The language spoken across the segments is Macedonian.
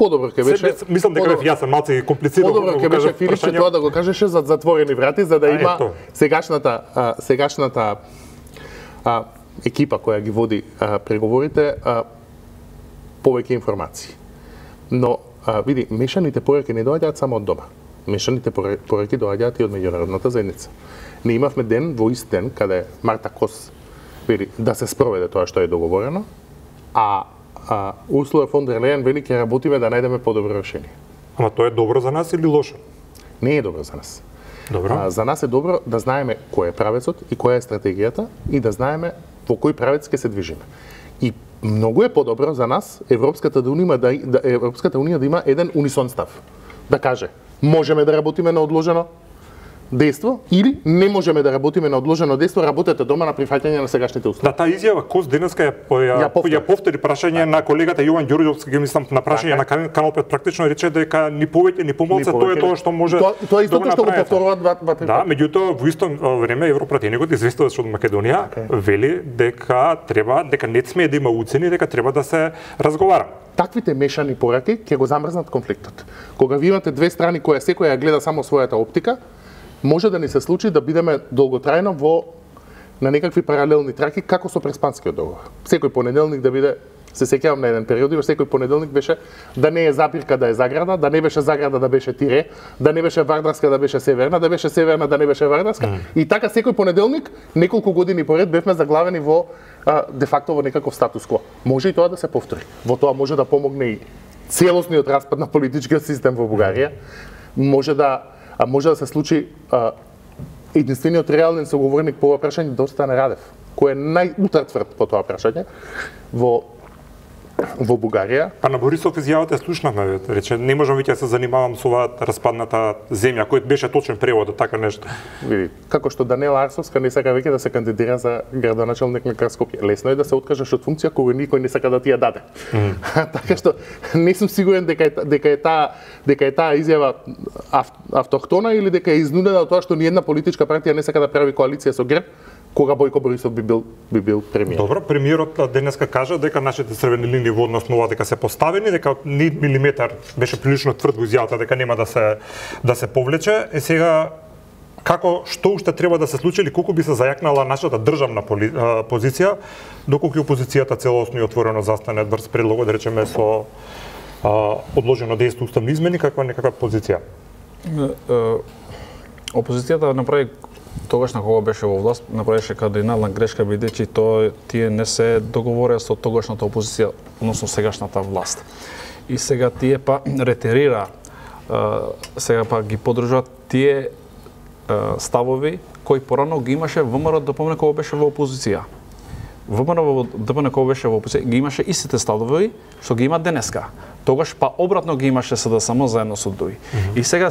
Подобро ќе беше. Мислам дека бев јасен, малку комплицирано. Подобро ќе беше Филипче тоа да го кажеше за затворени врати, за да има сегашната екипа која ги води преговорите повеќе информации. Но види, мешаните пораки не доаѓаат само од дома. Мешаните пораки доаѓаат и од меѓународната заедница. Не имавме ден во ист ден каде Марта Кос вели да се спроведе тоа што е договорено, а Урсула фон дер Лејен вели ќе работиме да најдеме подобро решение. Ама тоа е добро за нас или лошо? Не е добро за нас. Добро. За нас е добро да знаеме кој е правецот и која е стратегијата и да знаеме во кој правец ќе се движиме. И многу е подобро за нас Европската унија да има еден унисон став. Да каже, можеме да работиме на одложено дејство или не можеме да работиме на одложено дејство, работете дома на прифаќање на сегашните услови. Да, таа изјава Кос денеска ја повтори прашање на колегата Јован Ѓорѓовски, мислам на прашање на Канал 5 практично рече дека ни повеќе ни помалку тоа е тоа што може. Тоа истото што го повторуваат два. Да, меѓутоа во исто време Европратеникот известуваш од Македонија вели дека не смее да има уцени, дека треба да се разговара. Таквите мешани пораки ќе го замрзнат конфликтот. Кога ви имате две страни која секоја гледа само својата оптика, може да ни се случи да бидеме долготрајно на некакви паралелни траки како со Преспанскиот договор. Секој понеделник да биде, се сеќавам на еден период, секој понеделник беше да не е Запирка да е Заграда, да не беше Заграда да беше Тире, да не беше Вардарска да беше Северна, да беше Северна да не беше Вардарска. И така секој понеделник неколку години поред бевме заглавени во де факто во некаков статус кво. Може и тоа да се повтори. Во тоа може да помогне и целосниот распад на политичкиот систем во Бугарија. Може да се случи единствениот реален соговорник по ова прашање да остане Радев, кој е најутврд по тоа прашање во Бугарија. А на Борисов изјавата слушнавме, рече не можам веќе да се занимавам со оваа распадната земја, кој беше точен превод, така нешто. Види, како што Данела Арсовска не сака веќе да се кандидира за градоначалник на Скопје. Лесно е да се откажеш од функција која никој не сака да ти ја даде. Така што не сум сигурен дека е таа изјава автохтона или дека е изнудена од тоа што ни една политичка партија не сака да прави коалиција со ГЕРБ, кога Бојко Борисов би бил премиер. Добро, премиерот денеска кажа дека нашите црвени линии во однос на ова дека се поставени, дека ни милиметар беше прилично тврд во изјавата дека нема да се повлече. Сега што уште треба да се случи или колку би се зајакнала нашата државна позиција доколку опозицијата целосно и отворено застане врз предлогот, да речеме со одложено дејство уставни измени, каква некаква позиција? Опозицијата направи тогаш на кога беше во власт, направише кардинална грешка бидејќи тие не се договорија со тогашната опозиција, односно сегашната власт. И сега тие па ретерира, сега па ги поддржуваат тие ставови кои порано ги имаше ВМРО ДПМН кога беше во опозиција. ВМРО ДПМН кога беше во опозиција ги имаше истите ставови што ги има денеска. Тогаш па обратно ги имаше СДСМ заедно со други. И сега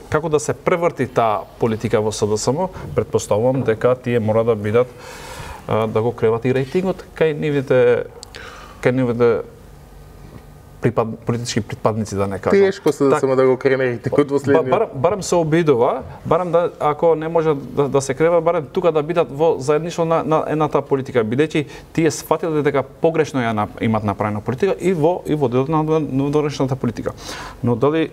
како да се преврти таа политика во СДСМ, претпоставувам дека тие мора да бидат да го креват и рейтингот кај нивните политички припадници, да не кажам. Тешко се да го крене рейтингот во следниот. Барем се обидува, барем да ако не може да се крева, барем тука да бидат во заедништво на едната политика, бидејќи тие сфатиле дека погрешно ја имат направена политика и во делот на донешната политика. Но дали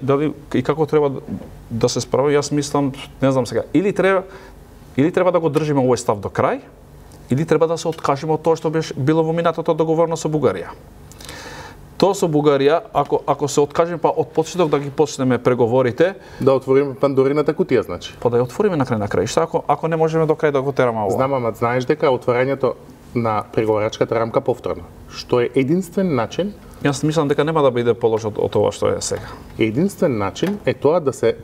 и како треба да се справи, јас мислам, не знам сега, или треба да го држиме овој став до крај, или треба да се откажеме од тоа што било во минатото договорено со Бугарија. Тоа со Бугарија, ако се откажеме па од почеток да ги почнеме преговорите, да отвориме Пандорината кутија, значи. Па да ја отвориме на крај, Шта ако не можеме до крај да го тераме ова. Знам, ама знаеш дека отворањето на преговарачката рамка повторно, што е единствен начин. Јас мислам дека нема да биде полошо од тоа што е сега. Единствен начин е тоа да се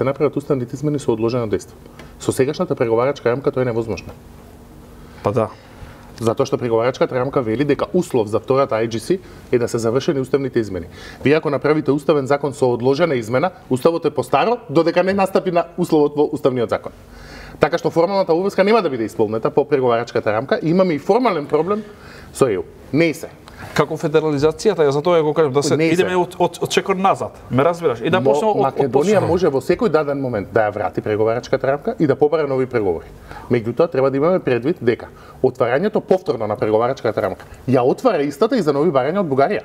направат уставните измени со одложено дејство. Со сегашната преговарачка рамка тоа е невозможно. Па да. Затоа што преговарачката рамка вели дека услов за втората IGC е да се завршени уставните измени. Вие ако направите уставен закон со одложена измена, уставот е постаро додека не настапи на условот во уставниот закон. Така што формалната обврска нема да биде исполнета по преговарачката рамка. Имаме и формален проблем со ЕУ. Не се. Како федерализацијата, ја затоа ја го кажам, да се идеме од чекор назад. Ме разбираш? И да почнеме од Македонија може во секој даден момент да ја врати преговарачката рамка и да побара нови преговори. Меѓутоа треба да имаме предвид дека отварањето повторно на преговарачката рамка ја отвара истата и за нови барања од Бугарија.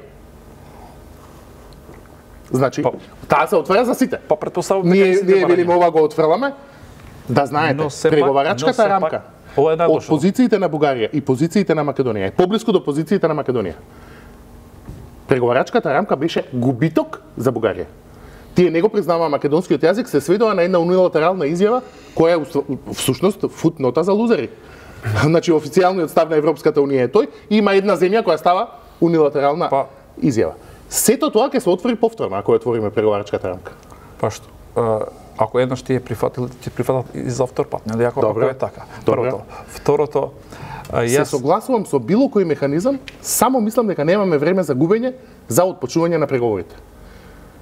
Значи, таа се отвора за сите. Па претпоставувам Ние велиме ова го отфрламе. Да знаете, преговарачката рамка од позициите на Бугарија и позициите на Македонија е поблиску до позициите на Македонија. Преговарачката рамка беше губиток за Бугарија. Тие не го признаваа македонскиот јазик, се сведува на една унилатерална изјава која е всушност футнота за лузери. Значи официјалниот став на Европската унија е тој, и има една земја која става унилатерална изјава. Сето тоа ќе се отвори повторно ако ја отвориме преговарачката рамка. Па што? Ако еднаш ти прифатил, ти прифатат и за втор пат, нели ако е така. Првото. Второто, се согласувам со било кој механизам, само мислам дека немаме време за губење за отпочнување на преговорите.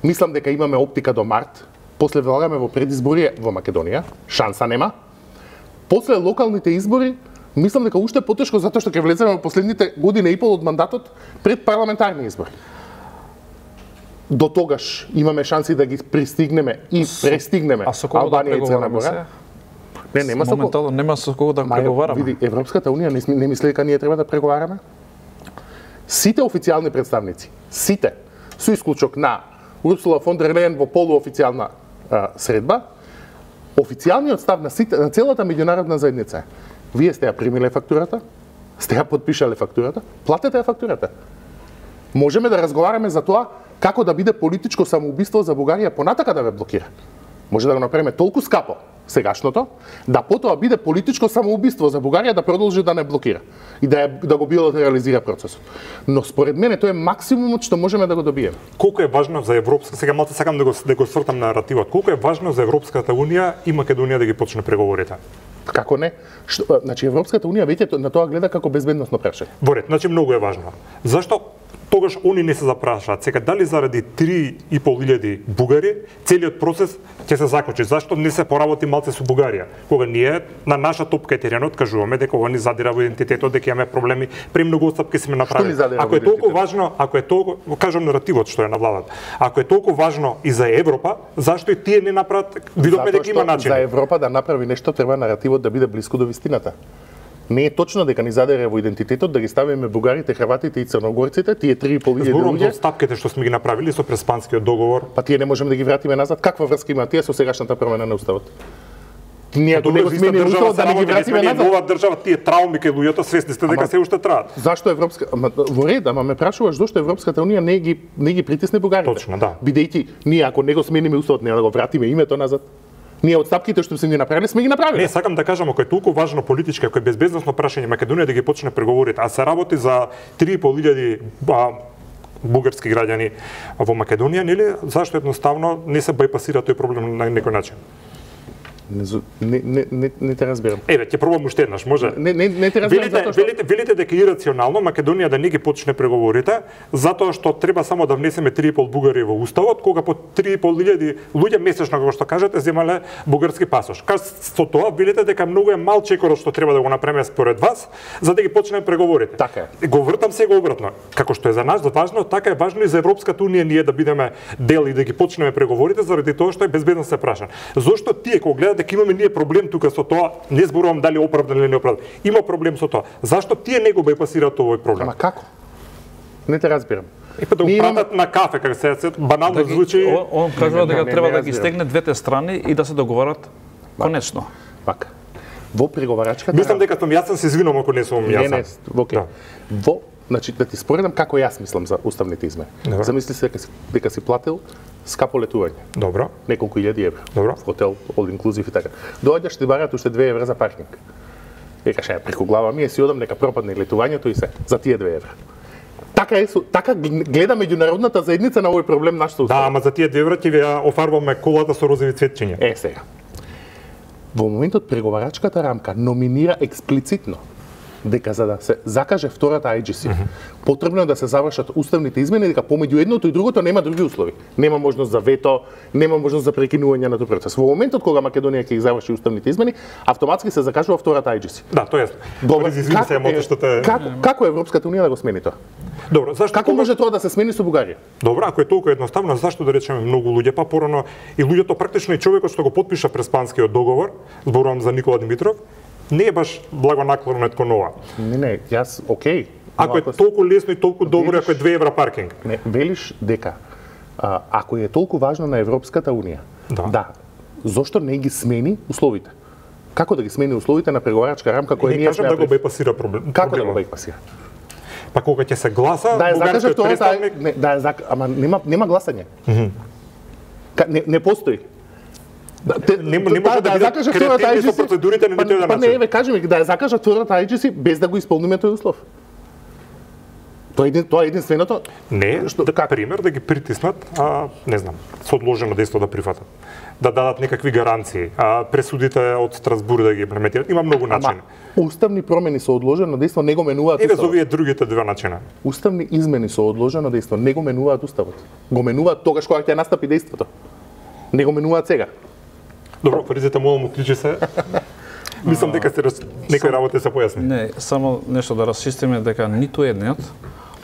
Мислам дека имаме оптика до март, после влагаме во предизбори во Македонија, шанса нема. После локалните избори, мислам дека уште потешко затоа што ќе влеземе во последните година и пол од мандатот пред парламентарни избори. До тогаш имаме шанси да ги пристигнеме и престигнеме Албанија и Црна Гора. Не, нема со моментално нема со кого да преговараме. Види, Европската унија не мисли дека ние треба да преговараме. Сите официјални представници, сите, со исклучок на Урсула фон дер Лејен во полуофицијална средба, официјалниот став на целата меѓународна заедница е: вие сте ја примиле фактурата, сте ја подпишале фактурата, платете ја фактурата. Можеме да разговараме за тоа како да биде политичко самоубиство за Бугарија понатака да ве блокира. Може да го направиме толку скапо сегашното, да потоа биде политичко самоубиство за Бугарија да продолжи да не блокира и да го билатерализира процесот. Но според мене тоа е максимумот што можеме да го добиеме. Колку е важно за Европска, сега малку сакам да го свртам на наративот. Колку е важно за Европската унија и Македонија да ги почне преговорите? Како не? Значи Европската унија веќе на тоа гледа како безбедносно прашање. Во ред, значи многу е важно. Зашто тогаш они не се запрашаат сега дали заради 3.500 бугари целиот процес ќе се заклучи? Зашто не се поработи малце со Бугарија? Кога ние на наша топка теренот кажуваме дека ова ни задира во идентитетот, дека имаме проблеми, премногу отстапки сме направили. Ако е толку важно, кажам наративот што е на владата. Ако е толку важно и за Европа, зашто и тие не направат? Видовме дека има начин. За Европа да направи нешто треба наративот да биде блиску до вистината. Не е точно дека ни задере во идентитетот да ги ставиме бугарите, хрватите и црногорците, тие 3.500 зборувам за отстапките што сме ги направили со Преспанскиот договор. Па тие не можеме да ги вратиме назад. Каква врска има тие со сегашната промена на уставот? Ние ако не го смениме уставот да не ги вратиме назад. Нова држава, тие трауми кај луѓето свесни сте дека се уште траат. Зашто Европска во ред, ама ме прашуваш зошто Европската унија не ги притисне бугарите? Точно, да. Бидејќи ние ако не го смениме уставот, не да го вратиме името назад. Ние отстапките што сме ги направиле, сме ги направиле. Не, сакам да кажам, ако е толку важно политичко, ако е безбедносно прашање Македонија да ги почне преговорите, а се работи за 3.500 бугарски граѓани во Македонија, нели, зашто едноставно не се бајпасира тој проблем на некој начин? Не те разбирам. Еве, ќе пробам уште еднаш, може? Не те разбирам затоа што велите дека ирационално Македонија да не ги почне преговорите, затоа што треба само да внесеме 3.500 бугари во уставот, кога по 3.500 луѓе месечно, како што кажете, земале бугарски пасош. Со тоа велите дека многу е мал чекорот што треба да го направиме според вас, за да ги почнеме преговорите. Така е. Го вртам сега обратно. Како што е за нас важно, така е важно и за Европската унија ние да бидеме дел и да ги почнеме преговорите заради тоа што е безбедно се праша. Зошто тие кога гледате дека имаме ние проблем тука со тоа, не зборувам дали оправдан или неоправдан. Има проблем со тоа. Зашто тие не го бајпасираат овој проблем? Ама како? Не те разбирам. И па да го пратат на кафе, како се банално звучи. Он кажува дека треба да ги стегне двете страни и да се договорат конечно. Пака. Во преговарачката. Мислам дека сум јасен, се извинувам ако не сум јасен. Не, окей. Во, значи да ти споредам како јас мислам за уставните измени. Замисли се дека си платил скапо летување. Добро. Неколку илјади евра. Добро. Хотел, all inclusive и така. Доаѓаш ти бараат уште 2 евра за паркинг. Викаш, преку глава ми си одам, нека пропадне летувањето и се за тие 2 евра. Така гледа меѓународната заедница на овој проблем нашата устава. Да, ама за тие 2 евра ти ја офарбаме колата со розови цветчиња. Сега. Во моментот преговарачката рамка номинира експлицитно дека за да се закаже втората IGC, потребно е да се завршат уставните измени, дека помеѓу едното и другото нема други услови. Нема можност за вето, нема можност за прекинување на тој процес. Во моментот кога Македонија ќе ги заврши уставните измени, автоматски се закажува втората IGC. Да, тоа е. Извини се, мото што те Како Европската унија да го смени тоа? Добро, зашто како може тоа да се смени со Бугарија? Добро, ако е толку едноставно, зашто да речеме многу луѓе па порано и луѓето практично и човекот што го потпиша Преспанскиот договор, зборувам за Никола Димитров, не е баш благонаклонет кон ова. Не, јас окей. Ако е толку лесно и толку добро, ако е 2 евра паркинг. Не, велиш дека Ако е толку важно на Европската унија, да, зошто не ги смени условите? Како да ги смени условите на преговарачка рамка која ние кажам да го бепасира проблем. Како да го бепасира? Па кога ќе се гласа, да бугарскиот представник... ама нема гласање. Не постои. Не може да бидат креативни со процедурите на нитој начин. Не, кажи ми, да ја закажат втората IGC без да го исполниме тој услов. Тоа е единственото. Не, пример да ги притиснат, не знам, со одложено дејство да прифатат. Да дадат некакви гаранции, пресудите од Страсбург да ги имплементират. Има многу начини. Уставни промени со одложено дејство не го менуваат уставот. Еве за овие другите два начина. Уставни измени со одложено дејство не го менуваат уставот. Го менуваат тогаш кога ќе настапи дејството. Не го менуваат сега. Добро, Фаризете, молам, уклучи се. Мислам дека некои работи се појасни. Не, само нешто да расчистиме дека ниту едниот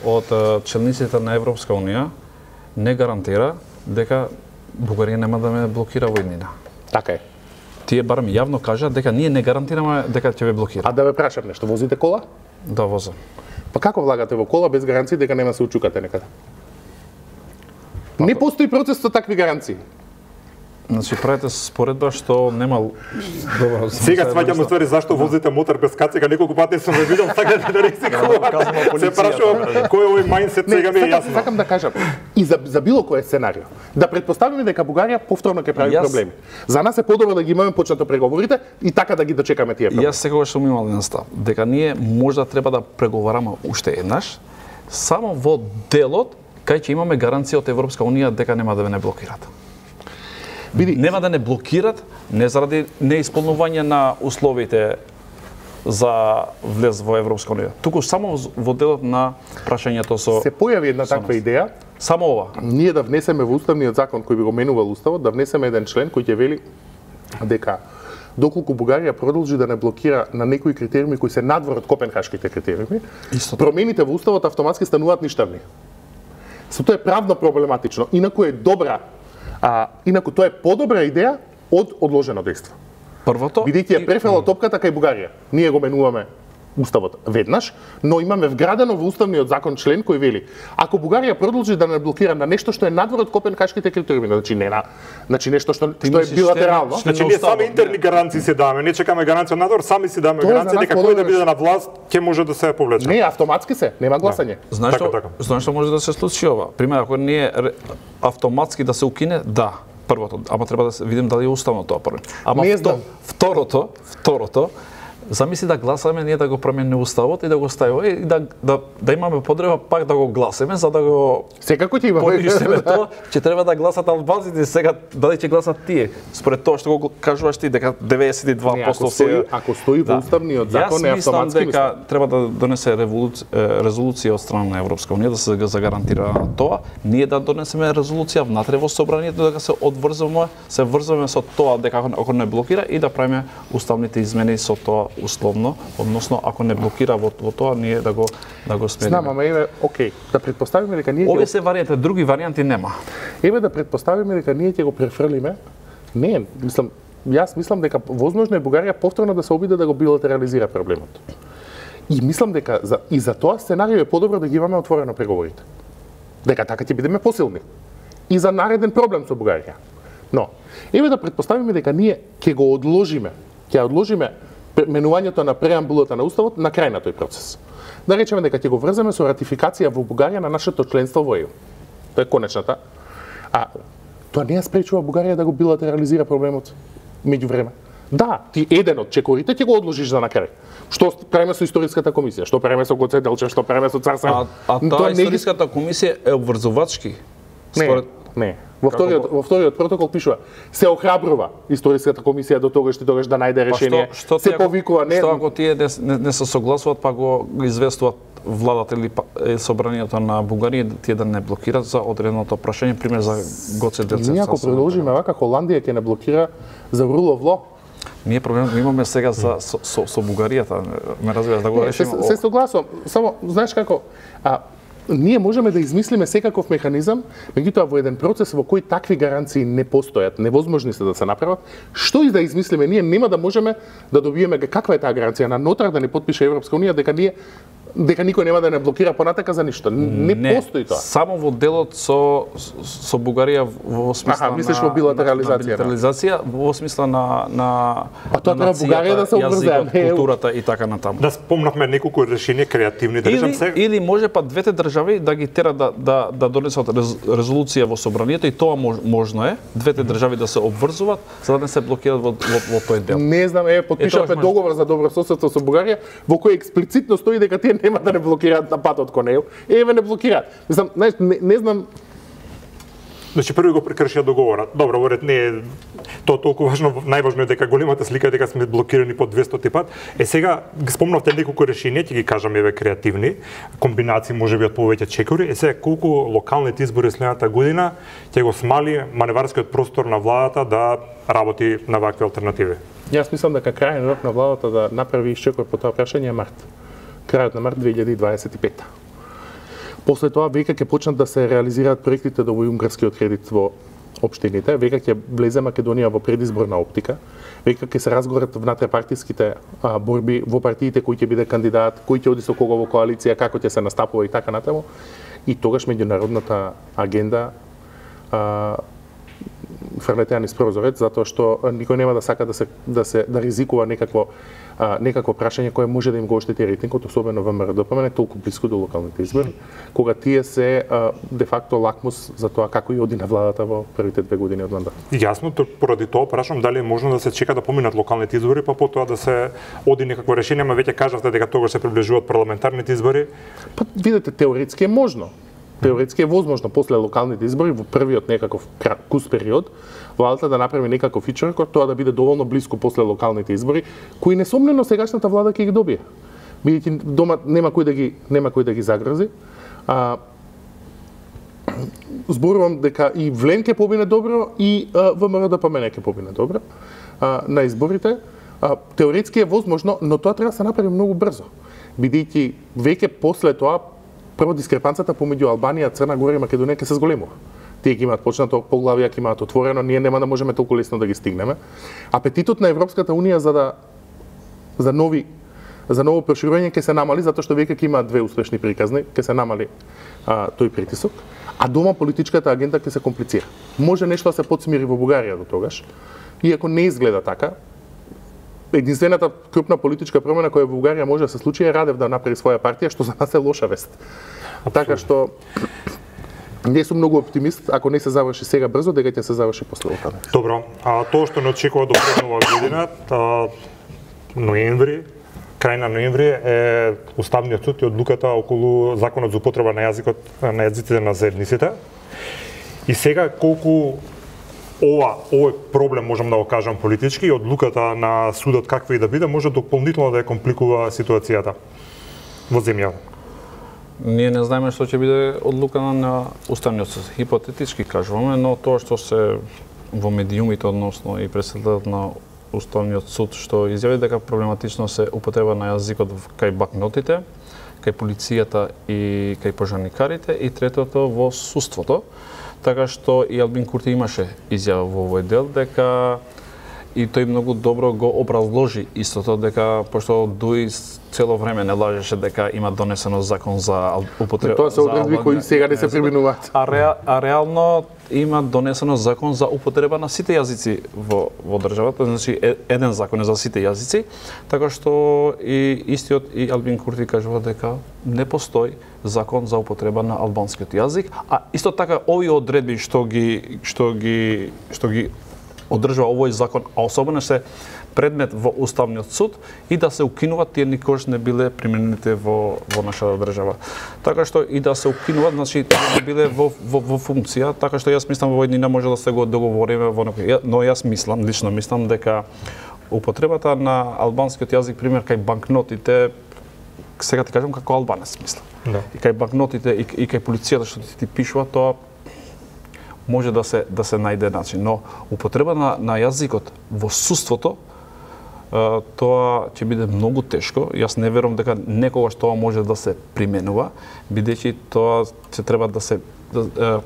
од челниците на Европска унија не гарантира дека Бугарија нема да ме блокира во иднина. Така е. Тие барем јавно кажа дека ние не гарантираме дека ќе ве блокира. А да ве прашам нешто, возите кола? Да, возам. Па како влагате во кола без гаранции дека нема се учукате некаде? Не постои процес со такви гаранции. Значи правите споредба што нема добро. Сега сваќам ствари зашто возите мотор без кацика, неколку пати сум ве видел, сакате да ризикувате. Се прашувам кој е овој мајндсет, сега ми е јасно. Сакам да кажам и за било кое сценарио. Да претпоставиме дека Бугарија повторно ќе прави проблеми. За нас е подобро да ги имаме почнато преговорите и така да ги дочекаме тие проблеми. Јас секогаш сум имал еден став, дека ние можда треба да преговараме уште еднаш, само во делот кај ќе имаме гаранција од Европска унија дека нема да ве не блокират. Нема да не блокират, не заради неисполнување на условите за влез во Европска унија, туку само во делот на прашањето со... Се појави една таква идеја, само ова. Ние да внесеме во уставниот закон кој би го менувал уставот, да внесеме еден член кој ќе вели дека доколку Бугарија продолжи да не блокира на некои критериуми кои се надвор од копенхашките критериуми, промените во уставот автоматски стануваат ништавни. Тоа е правно проблематично, инаку е добра. Инаку тоа е подобра идеја од одложено дејство. Првото, бидејќи ја префела топката кај Бугарија. Ние го менуваме уставот веднаш, но имаме вградено во уставниот закон член кој вели: ако Бугарија продолжи да не блокира на нешто што е надвор од копенхашките критериуми, значи нешто што е билатерално, значи ние сами интерни гаранции се даваме, не чекаме гаранција надвор, сами си даваме гаранција дека кој да биде на власт ќе може да се повлече. Не, автоматски се, нема гласање. Знаеш што може да се случи ова? Пример, ако ние автоматски да се укине, да, првото, ама треба да се видим дали е уставно тоа прво. Ама второто, замисли да гласаме ние да го промениме уставот и да го ставиме и да имаме потреба пак да го гласаме за да го секако ќе имаме тоа, ќе треба да гласат албанците, сега дали ќе гласат тие. Според тоа што го кажуваш ти дека 92% се ако стои во уставниот закон е автоматски. Јас мислам дека треба да донесе резолуција од страна на Европска унија да се загарантира тоа, ние да донесеме резолуција внатре во собранието дека се врзуваме со тоа дека ако не блокира и да правиме уставните измени со тоа условно, односно ако не блокира во тоа ние да го смениме. Знам, ама еве, окей, да претпоставиме дека ние овие се варијанти, други варијанти нема. Еве да претпоставиме дека ние ќе го префрлиме. Не, јас мислам дека возможно е Бугарија повторно да се обиде да го билатерализира проблемот. И мислам дека и за тоа сценарио е подобро да ги имаме отворено преговорите. Дека така ќе бидеме посилни. И за нареден проблем со Бугарија. Но, еве да претпоставиме дека ние ќе го одложиме менувањето на преамбулата на уставот на крај на тој процес. Да речеме дека ќе го врземе со ратификација во Бугарија на нашето членство во ЕУ. Тоа е конечната. Тоа не ја спречува Бугарија да го билатерализира проблемот меѓувреме. Да, ти еден од чекорите ќе го одложиш за на крај. Што правиме со историската комисија? Што правиме со Гоце Делчев? Што правиме со Цар Сав? Таа историската комисија е обврзувачки. Не. Во вториот протокол пишува: се охрабрува историската комисија до тогаш да најде решение. Се повикува Што ако тие не се согласуваат, па го известуваат владата или собранието на Бугарија тие да не блокираат за одреденото прашање, пример за Гоце Делчев. Ние ако продолжиме вака, Холандија ќе не блокира за rule of law. Ние проблемот имаме сега со Бугаријата, ме разбираш да го решиме. Се согласувам, само знаеш како ние можеме да измислиме секаков механизам, меѓутоа во еден процес во кој такви гаранции не постојат, невозможни се да се направат, што и да измислиме, ние нема да можеме да добиеме каква е таа гаранција на нотар да не потпише Европска унија дека ние дека никој нема да не блокира понатака за ништо. Не постои тоа. Само во делот со Бугарија во смисла мислиш во билатерализација, во смисла на тоа треба Бугарија да се обврзува, културата и така натаму. Да спомнавме неколку решенија креативни, да речем сега. Или може па двете држави да ги тера да донесат резолуција во собранието и тоа можно е, двете држави да се обврзуваат за да не се блокираат во тој дел. Не знам, потпишавме договор за добрососедство со Бугарија во кој експлицитно стои дека тие нема да не блокираат на патот кон него. Не блокираат. Мислам, не знам. Значи први го прекршија договорот. Добро, воред не е тоа толку важно, најважно е дека големата слика е дека сме блокирани по 200 пат. Сега ги спомнавте неколку решенија, ќе ги кажам креативни, комбинации можеби од повеќе чекори. Сега колку локалните избори следната година ќе го смали маневарскиот простор на владата да работи на вакви алтернативи? Јас мислам дека крајен рок на владата да направи исчекор по тоа прашање е март. Крајот на март 2025. После тоа веќе ќе почнат да се реализираат проектите до унгарскиот кредит во општините, веќе ќе влезе Македонија во предизборна оптика, веќе ќе се разговарат внатрепартиските борби во партиите кој ќе биде кандидат, кој ќе оди со кого во коалиција, како ќе се настапува и така натаму. И тогаш меѓународната агенда фрлете низ прозорец, затоа што никој нема да сака да ризикува некакво прашање кое може да им го оштети рейтингот, особено ВМРО-ДПМН, толку блиску до локалните избори, кога тие се де факто лакмус за тоа како и оди на владата во првите 2 години од мандат. Јасно, поради тоа прашам дали е можно да се чека да поминат локалните избори, па потоа да се оди некакво решение, ама веќе кажавте дека тогаш се приближуваат парламентарните избори. Па видете, теоретски е можно. Теоретски е возможно после локалните избори во првиот некаков кус период владата да направи некаков ичеркор, тоа да биде доволно блиску после локалните избори, кои несомнено сегашната влада ќе ги добие. Бидејќи дома нема кој да ги загрози. Зборувам дека и Влен ќе побине добро и ВМРО-ДПМН ќе побине добро на изборите. Теоретски е возможно, но тоа треба да се направи многу брзо. Бидејќи веќе после тоа прво дискрепанцата помеѓу Албанија, Црна Гора и Македонија ќе се зголемува. Тие ќе имаат почнато поглавија, ќе имаат отворено, ние нема да можеме толку лесно да ги стигнеме. Апетитот на Европската унија за ново проширување ќе се намали затоа што веќе ќе имаат 2 успешни приказни, ќе се намали тој притисок, а дома политичката агенда ќе се комплицира. Може нешто да се подсмири во Бугарија до тогаш, иако не изгледа така. Единствената крупна политичка промена која во Бугарија може да се случи е Радев да направи своја партија, што за нас е лоша вест. Така што не сум многу оптимист, ако не се заврши сега брзо, дека ќе се заврши после локални. Добро, тоа што не очекува до преднова година, ноември, крај на ноември е Уставниот суд и одлуката околу законот за употреба на јазиците на заедниците. И сега колку овој проблем, можам да го кажам политички, и одлуката на судот каква и да биде, може дополнително да ја компликува ситуацијата во земјата. Ние не знаеме што ќе биде одлука на Уставниот суд. Хипотетички кажуваме, но тоа што се во медиумите, односно и председателот на Уставниот суд, што изјави дека проблематично се употреба на јазикот кај бакнотите, кај полицијата и кај пожарникарите, и третото во судството. Така што и Албин Курти имаше изјава во овој дел дека и тој многу добро го образложи истото дека пошто Дуи цело време не лажеше дека има донесено закон за употреба. Тоа се одредби кои сега не се применуваат. А реално има донесено закон за употреба на сите јазици во државата, значи еден закон е за сите јазици, така што и истиот и Албин Курти кажува дека не постои закон за употреба на албанскиот јазик, а исто така овие одредби што ги одржува овој закон, а особено се предмет во Уставниот суд и да се укинуваат, тие никогаш не биле применените во нашата држава. Така што и да се укинуваат, значи не биле во функција, така што јас мислам во еднина може да се го договориме во некој, но јас лично мислам дека употребата на албанскиот јазик, пример кај банкнотите, сега ти кажам како албанец мислам. Да. И кај банкнотите и кај полицијата што ти пишува, тоа може да се најде начин, но употреба на јазикот во судството тоа ќе биде многу тешко. Јас не верувам дека некогаш тоа може да се применува, бидејќи тоа се треба да се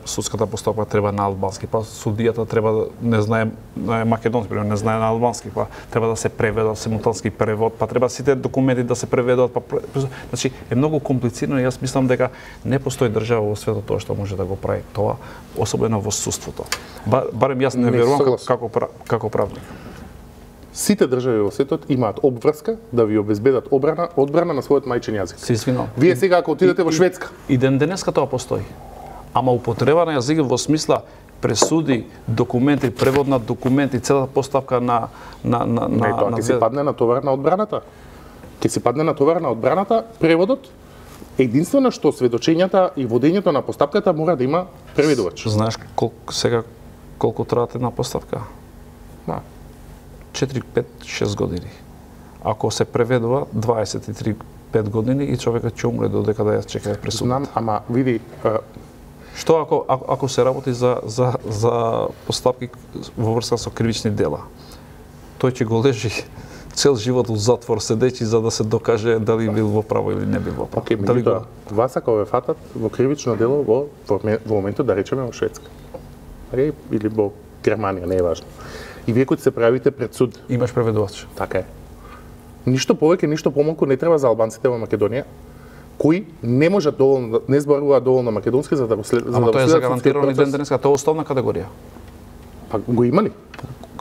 судската постапка треба на албански, па судијата треба да не знае македонски, пример, не знае на албански, па треба да се преведе симултански превод, па треба сите документи да се преведат, значи е многу комплицирано и јас мислам дека не постои држава во светот тоа што може да го прави тоа, особено во судството. Барем јас не верувам како правник. Сите држави во светот имаат обврска да ви обезбедат одбрана на својот мајчин јазик. Се извинувам. Вие сега ако отидете во Шведска, и ден денеска тоа постои. Ама употреба на јазик во смисла пресуди, документи, превод на документи, целата постапка на ќе си падне на товар на одбраната. Ќе си падне на товар на одбраната, преводот. Единствено што сведочењата и водењето на постапката мора да има преведувач. Знаеш колку трае една постапка? 4, 5, 6 години. Ако се преведува 23-5 години и човекот ќе умре додека да ја чека пресудата. Знам, ама види, што ако се работи за постапки во врска со кривични дела? Тој ќе го лежи цел живот во затвор седејќи за да се докаже дали бил во право или не бил во право. Океј, меѓутоа, вас ако ве фатат во кривично дело во моментот да речеме во Шведска. Или во Германија, не е важно. И вие кои се правите пред суд. Имаш преведувач. Така е. Ништо повеќе, ништо помалку не треба за албанците во Македонија, кои не можат доволно, не зборуваат доволно македонски за да го следат. Ама тоа е загарантирано и ден денеска, тоа е основна категорија. Па го има ли?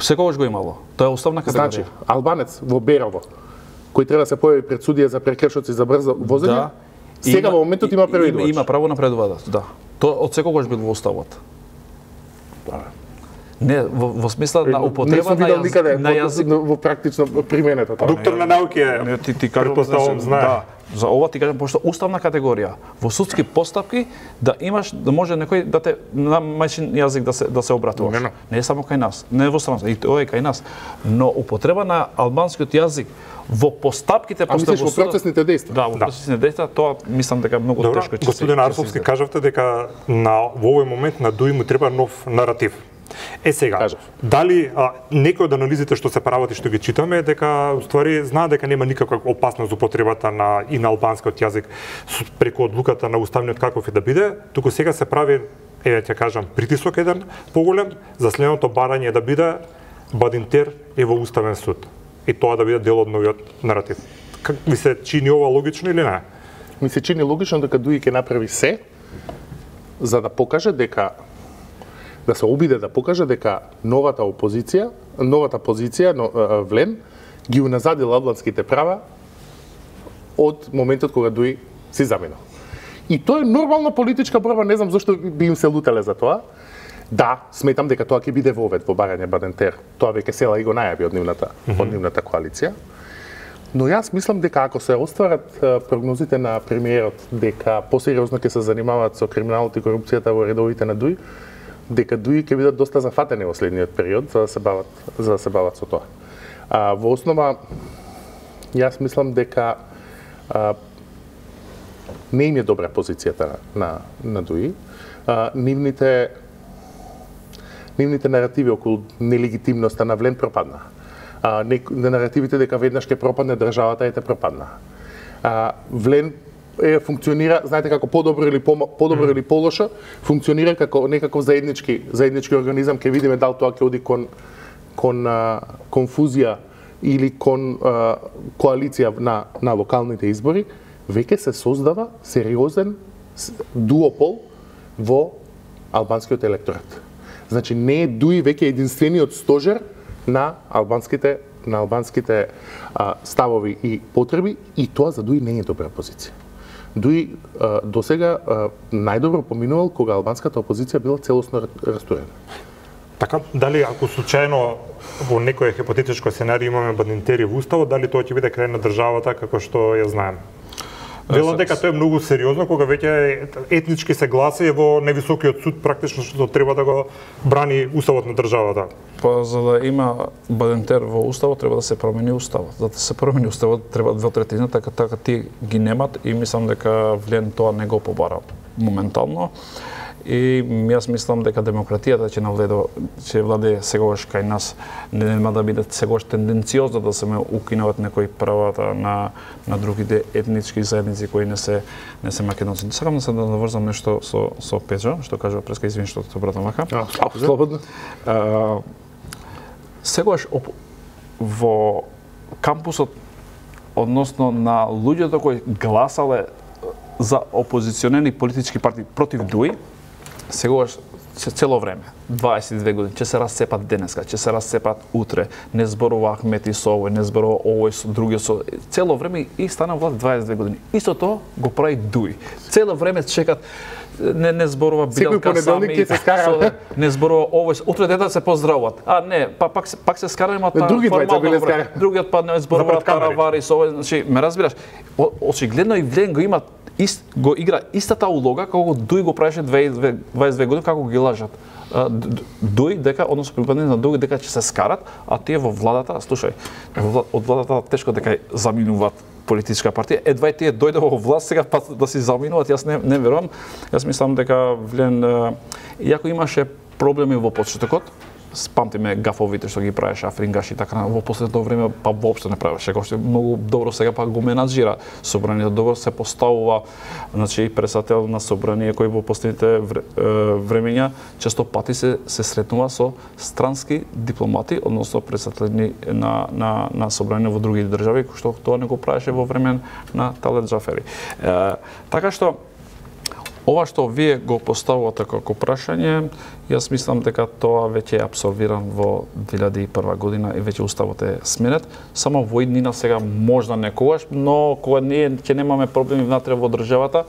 Секогаш го имало. Тоа е основна категорија. Значи, албанец во Берово, кој треба да се појави пред судија за прекршоци за брзо возење, сега во моментот има преведувач. Има право на преведувач, да. Тоа од секогаш бил во уставот. Не, во смисла на употреба на јазик во практично применето тоа. Доктор на науки е. Ти кажам, знае. Да, за ова ти кажам пошто уставна категорија во судски постапки да имаш да може некој да те на мајчин јазик да се обратуваш. Не е само кај нас, не е во страната, и тоа е кај нас. Но употреба на албанскиот јазик во постапките во процесните дејства. Да, во процесните дејства тоа мислам дека многу тешко ќе се. Господин Арсовски, кажавте дека во овој момент на ДУИ му треба нов наратив. Сега, дали некои од анализите што се прават и што ги читаме дека уствари знаат дека нема никаква опасност за употребата и на албанскиот јазик преку одлуката на уставниот каков и да биде, туку сега се прави, ќе кажам, притисок еден поголем за следното барање да биде Бадинтер е во уставен суд и тоа да биде дел од новиот наратив. Как ви се чини ова логично или не? Ми се чини логично дека ДУИ ќе направи се за да покаже дека да се обиде да покаже дека новата позиција Влен ги уназадил албанските права од моментот кога ДУИ си заминал. И тоа е нормална политичка борба, не знам зашто би им се лутеле за тоа. Да, сметам дека тоа ќе биде вовед во барање Бадентер. Тоа веќе села и го најави од нивната коалиција. Но јас мислам дека ако се остварат прогнозите на премиерот дека посериозно ќе се занимаваат со криминалот и корупцијата во редовите на ДУИ, дека ДУИ ќе бидат доста зафатени во следниот период за да се бават со тоа. Во основа јас мислам дека не им е добра позицијата на ДУИ. Нивните наративи околу нелегитимноста на Влен пропадна. Наративите дека веднаш ќе пропадне државата ете пропадна. Влен функционира, знаете како подобро или полошо, функционира како некаков заеднички организам, ќе видиме дали тоа ќе оди кон конфузија или кон коалиција на локалните избори, веќе се создава сериозен дуопол во албанскиот електорат. Значи не е ДУИ веќе единствениот стожер на албанските ставови и потреби и тоа за ДУИ не е добра позиција. ДУИ досега најдобро поминувал кога албанската опозиција била целосно растурена. Така, дали ако случајно во некој хипотетичко сценарij имаме Бадинтери во уставот, дали тоа ќе биде крај на државата како што ја знаеме? Велам дека тоа е многу сериозно кога веќе етнички се гласи во највисокиот суд практично што треба да го брани уставот на државата. Па за да има Бадинтер во уставот треба да се промени уставот. За да се промени уставот треба 2/3, така тие ги немат и мислам дека Влен тоа не го побара моментално. и јас мислам дека демократијата ќе владее сегогаш кај нас, нема да биде сегогаш тенденциозно да се укинуваат некои правата на другите етнички заедници кои не се македонци. Сакам да се наврзам нешто со Педжо, што кажува преска, извини што те обратам вака. Слободно. Сегогаш во кампусот, односно на луѓето кои гласале за опозиционерни политички партии против ДУИ, сегогаш цело време, 22 години, ќе се расцепат денеска, ќе се расцепат утре, не зборува Ахмети со овој, не зборува овој со другиот со... Цело време и стана власт 22 години. Истото го прави ДУИ. Цело време чекат, не зборува Билалка сами, не зборува овој, утре дете се поздравуваат. Не, пак се скараме таа формално, другиот па не зборува Таравари со овој, значи, ме разбираш, очигледно и Влен го има го игра истата улога како Дуј го правеше 22 години, како ги лажат. Дуј дека, односно припадници на Дуј дека ќе се скарат, а тие во владата, слушај, од владата тешко дека заминуваат политичка партија. Едва и тие дојде во власт сега па да си заминуваат, јас не верувам. Јас мислам дека Влен, иако имаше проблеми во почетокот, памтиме гафовите што ги правеше Афрингаш и така, во последното време па воопшто не правеше, како што многу добро сега па го менаџира собранието, добро се поставува, значи председател на собрание кој во последните времења често пати се сретнува со странски дипломати, односно председатели на собрание во други држави, кој што тоа не го правеше во време на Талет Џафери. Така што ова што вие го поставувате како прашање, јас мислам дека тоа веќе е абсорбиран во 2001 година и веќе уставот е сменет. Само во иднина сега можда некогаш, но кога ние ќе немаме проблеми внатре во државата,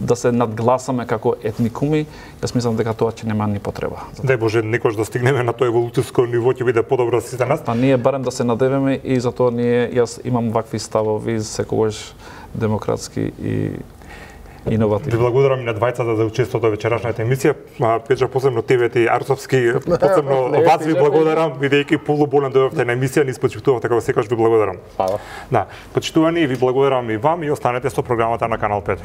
да се надгласаме како етникуми, јас мислам дека тоа ќе нема ни потреба. Дај Боже, некош да стигнеме на тоа еволуцијско ниво, ќе биде подобро за сите нас. Па ние барем да се надеваме и затоа јас имам вакви ставови секогаш демократски и иновативни. Ви благодарам и на двајцата за учеството во вечерашната емисија. Педжа, посебно тебе и Арцовски, посебно вас ви благодарам, бидејќи полуболен дојдовте на емисија, ни спочитувавте како секогаш, ви благодарам. Фала. Да, почитувани, ви благодарам и вам и останете со програмата на Канал 5.